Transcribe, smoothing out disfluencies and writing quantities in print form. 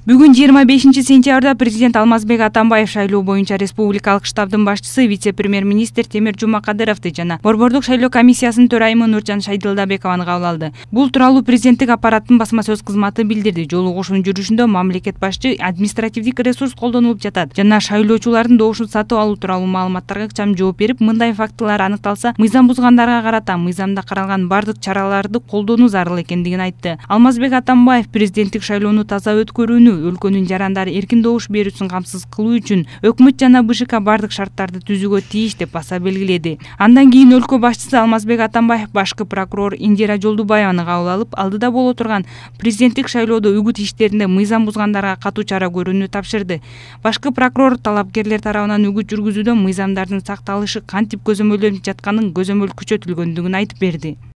Бүгүн 25-сентябрда президент Алмазбек Атамбаев шайлоо боюнча республикалык штабдын башчысы вице-премьер-министр Темир Жумакадыровду жана Борбордук шайлоо комиссиясынын төрайымы Нуржан Шайдылдабекованы кабыл алды. Бул тууралуу президенттик аппараттын басма сөз кызматы билдирди. Жолугушуунун жүрүшүндө мамлекет башчы административдик ресурс колдонулуп жатат жана шайлоочулардын добушун сатып алуу тууралуу маалыматтарга ыкчам жооп берип, мындай фактылар аныкталса, мыйзам бузгандарга карата мыйзамда каралган бардык чараларды колдонуу зарыл экендигин айтты. Алмазбек Атамбаев президенттик шайлоону таза өткөрүүнү, өлкөнүн жарандары эркин добуш берүүсүн камсыз кылуу үчүн өкмөт жана БШК бардык шарттарды түзүүгө тийиш деп баса белгиледи. Андан кийин өлкө башчысы Алмазбек Атамбаев башкы прокурор Индира Жолдубаеваны кабыл алып, алдыда боло турган президенттик шайлоодо үгүт иштеринде мыйзам бузгандарга катуу чара көрүүнү тапшырды. Башкы прокурор талапкерлер тарабынан үгүт жүргүзүүдө мыйзамдардын сакталышы кантип көзөмөлдөнүп жатканын көзөмөл күчөтүлгөндүгүн айтып берди.